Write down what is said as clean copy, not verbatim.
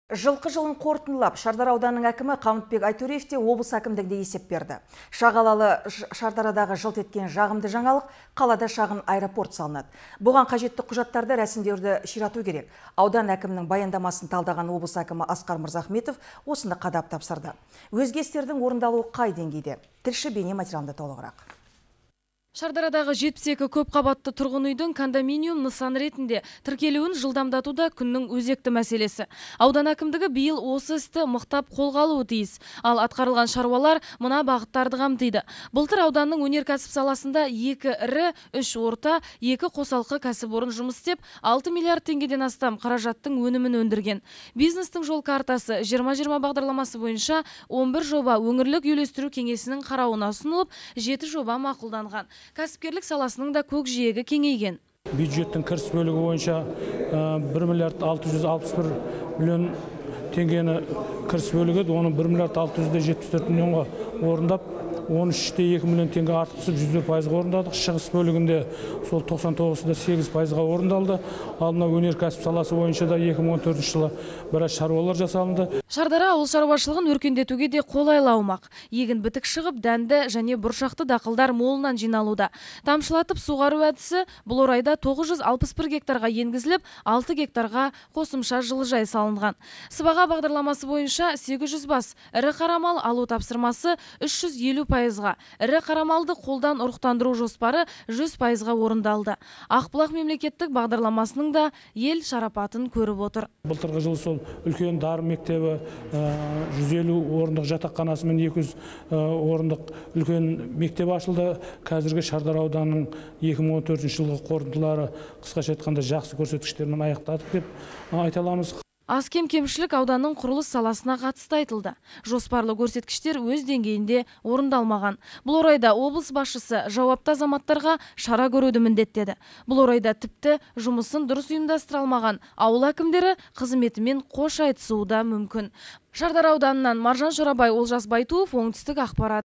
Жылқы жылын қорытындылап, Шардара ауданының әкімі Қамытбек Айтөреев те облыс әкімдігінде есеп берді. Шағалалы Шардарадағы жылт еткен жағымды жаңалық, қалада шағын аэропорт салынады. Бұған қажетті құжаттарды рәсімдеуді ширату керек. Аудан әкімінің баяндамасын талдаған облыс әкімі Асқар Мырзахметов осыны қадап тапсырды. Өзге істердің орындалуы қай деңгейде? Тілші бейне материалында толығырақ. Шардарадағы 72 көп қабатты тұрғын үйдің кондоминиум нысан ретінде тіркелуін жылдамдатуда күннің өзекті мәселесі. Аудан әкімдігі биыл осы істі мықтап қолға алуы тиіс. Ал атқарылған шаруалар мына бағыттарды қамтиды. Былтыр ауданның өнеркәсіп саласында 2 ірі, 3 орта, 2 қосалқы кәсіпорын жұмыс істеп, 6 миллиард теңгеден астам қаражаттың өнімін өндірген. Бизнестің жол картасы 2020 бағдарламасы бойынша 11 жоба өңірлік үйлестіру кеңесінің қарауына ұсынылып, 7 жоба мақұлданған. Кәсіпкерлік саласының да көкжиегі кеңейген. Бюджеттің кіріс бөлігі бойынша 1 миллиард 661 миллион теңгені кіріс бөлігі, оны 1 миллиард 674 миллионға орындап, 13,2 миллион теңге артық түсіп 100% орындадық. Шығыс бөлігінде сол 99,8% орындалды. Ал мына өнеркәсіп саласы бойынша да 2014 жылы біраз шаруалар жасалынды. Шардара ауыл шаруашылығын өркендетуге де қолайлы аумақ. Егін бітік шығып, дәнді және бұршақты дақылдар молынан жиналуда. Тамшылатып суғару әдісі бұл орайда 961 гектарға енгізіліп, 6 гектарға қосымша жылыжай салынған. Сыбаға бағдарламасы бойынша 800 бас ірі қарамал алу тапсырмасы 350%-ға, ірі қарамалды қолдан ұрықтандыру жоспары 100%-ға орындалды. Ақбұлақ мемлекеттік бағдарламасының да ел шарапатын көріп отыр. Былтырғы жылы сол үлкен дарын мектебі 150 орындық жатақханасы мен 200 орындық үлкен мектеп ашылды. Қазіргі Шардара ауданының 2014 жылғы қорытындылары қысқаша айтқанда жақсы көрсеткіштермен аяқтадық деп айта аламыз. Аз кем-кемшілік ауданның құрылыс саласына қатысты айтылды. Жоспарлы көрсеткіштер өз деңгейінде орындалмаған. Бұл орайда облыс басшысы жауапты азаматтарға шара көруді міндеттеді. Бұл орайда тіпті жұмысын дұрыс ұйымдастыра алмаған ауыл әкімдері қызметімен қош айтысуы да мүмкін. Шардара ауданынан Маржан Шорабай, Олжас Байтуов, оңтүстік ақпарат.